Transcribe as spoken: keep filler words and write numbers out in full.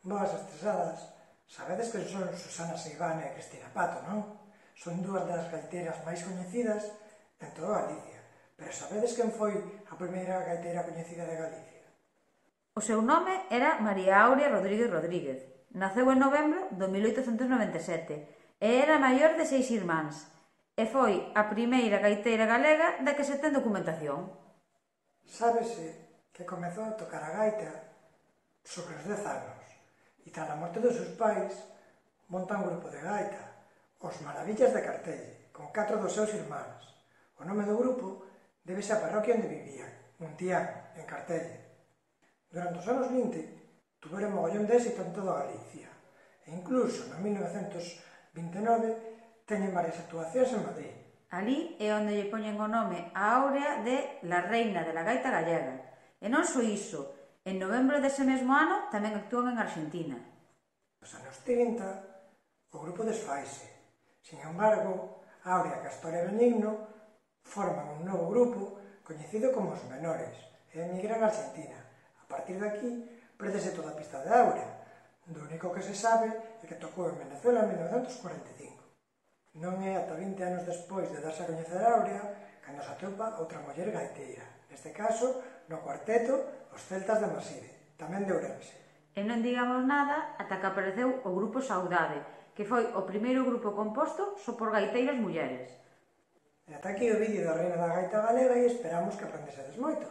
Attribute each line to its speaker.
Speaker 1: Boas estresadas, sabedes que son Susana Seivane e Cristina Pato, non? Son dúas das gaiteiras máis coñecidas en toda Galicia. Pero sabedes quen foi a primeira gaiteira coñecida de Galicia?
Speaker 2: O seu nome era María Aurea Rodríguez Rodríguez. Naceu en novembro do mil oitocentos noventa e sete e era maior de seis irmáns. E foi a primeira gaiteira galega da que se ten documentación.
Speaker 1: Sábese que comezou a tocar a gaita sobre os dez anos e tras a morte dos seus pais monta un grupo de gaita, os Maravillas de Cartelle, con catro dos seus irmáns. O nome do grupo débese á parroquia onde vivían, Muntián, en Cartelle. Durante os anos vinte tuveron mogollón de éxito en toda Galicia e incluso no mil novecentos vinte e nove teñen varias actuacións en Madrid.
Speaker 2: Alí é onde lle poñen o nome a Áurea de la reina de la gaita gallega. E non só iso, en novembro dese mesmo ano tamén actúan en Argentina.
Speaker 1: Nos anos trinta o grupo desfaise. Sin embargo, Áurea, Castor e Benigno forman un novo grupo coñecido como os Menores e emigran a Argentina. A partir de aquí, perdese toda a pista de Áurea. Do único que se sabe é que tocou en Venezuela en mil novecentos cuarenta e cinco. Non é ata vinte anos despois de darse a coñecer a Áurea cando se atopa outra muller gaiteira. Neste caso, no cuarteto, os Celtas de Maside, tamén de Ourense.
Speaker 2: E non digamos nada ata que apareceu o Grupo Saudade, que foi o primeiro grupo composto só por gaiteiras mulleres.
Speaker 1: E ata aquí o vídeo da Reina da Gaita Galega e esperamos que aprendesedes moito.